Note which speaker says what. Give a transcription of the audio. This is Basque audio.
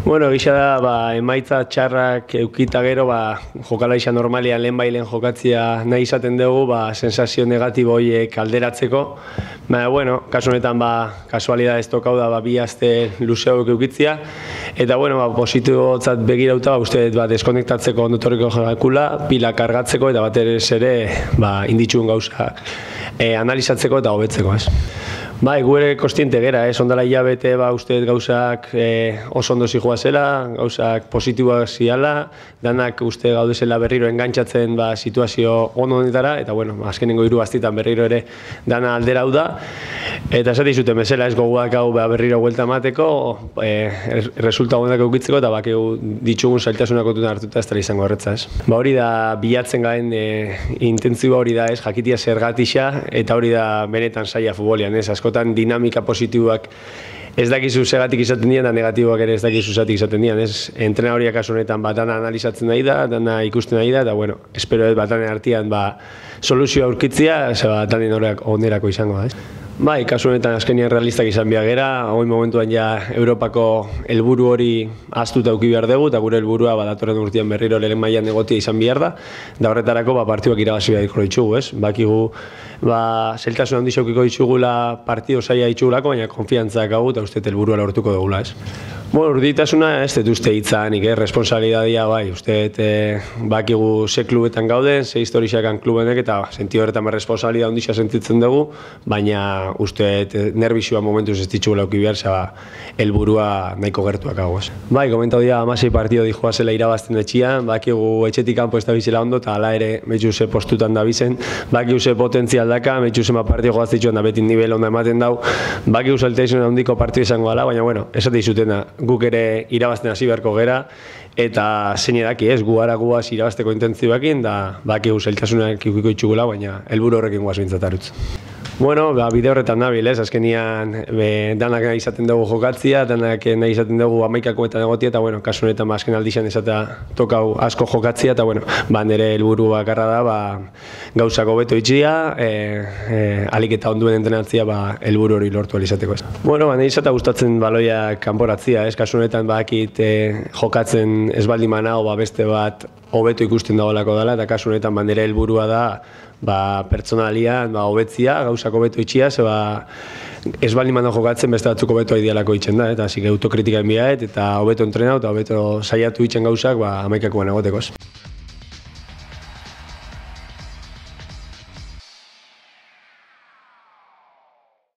Speaker 1: Bueno, gisa da, emaitza txarrak eukita gero, jokalaixa normalian lehen jokatzia nahi izaten dugu, sensazio negatibo horiek alderatzeko. Bueno, kasu honetan, kasualidad ez tokau da, bi aste luzeok eukitzia. Eta, positibotzat begirauta, uste deskonektatzeko ondotoriko jakula, pila kargatzeko eta batez ere inditxun gauza analizatzeko eta hobetzeko, ez. Gu ere kostiente gera, ondala hilabete uste gauzak oso ondo zijoa zela, gauzak positiboak ziala, danak uste gaudezela berriro engantzatzen situazio ondo honetara, eta azkenengo 3 astitan berriro ere dana aldera hau da. Eta esate zuten bezala ez gogoak hau berriro huelta emateko, resulta honak eukitzeko eta ditugun zailtasunak kontutan hartuta ez dela izango horretza, ez. Hori da bilatzen gaen intentziba hori da ez, jakitia zergatixa, eta hori da benetan saia futbolian, ez, askotan dinamika positiboak ez dakizu segatik izaten dian, da negatiboak ere ez dakizu zatik izaten dian, ez. Entrenadoriak kasu honetan dana analizatzen nahi da, dana ikusten nahi da, eta espero ez danen artean soluzioa aurkitzia, danen horrek onerako izango da, ez. Kasu honetan azkenean realistak izan behar gera, hori momentuan Europako helburu hori ahaztuta eduki behar dugu, eta gure helburua datorren urtean berriro lehen mailan egotia izan behar da, eta horretarako partiduak irabazi beharko ditugu, ez? Bakigu, zailtasun handi xaukiko ditugula partido zaila ditugulako, baina konfiantzak hau eta uste helburua lortuko dugula, ez? Urditasuna ez dut uste hitzanik, responsabilidadia uste bakigu ze klubetan gauden, ze historixakan klubenek, eta sentido horretan responsabilidad handia sentitzen dugu, baina uste nervizioa momentuz ez ditugula euki behar, helburua nahiko gertuak hau, ez. Komentau dira 16 partido dijoa zela irabazten etxian, bakigu etxetik kanpo ez da bizela ondo, eta hala ere metxu ze postutan da bizen, bakigu ze potentzial daka, metxu zema partido joaztitxuan da beti nivel onda ematen dau, bakigu zailtasun handiko partido izango gala, baina esate izutena, guk ere irabazten hasi beharko gera, eta zein edaki ez, gu guaz irabazteko intentzioakin, da bakigu zailtasunak ikiko itxugula, baina helburu horrekin guaz bintzatarutz. Bide horretan nabil, ez, azkenian danak nahi izaten dugu jokatzia, danak nahi izaten dugu 11koetan egotia, eta kasu honetan azken aldixan esatea tokau asko jokatzia, eta nire helburu bakarra da gauzako beto itxia, alik eta onduen entrenatzia helburu hori lortu alizateko, ez. Nahi izatea gustatzen baloiak kanporatzia, ez, kasu honetan bakit jokatzen ez baldin manao beste bat hobeto ikusten dagoelako dela, eta kasu honetan nire helburua da pertsonalian hobetzia, gauzako beto itxia, ez baldin manao jokatzen beste batzuko beto idealako itxen da, eta zik autokritika enbiaet, eta hobeto entrenau, eta hobeto saiatu itxen gauzak 11koan egoteko.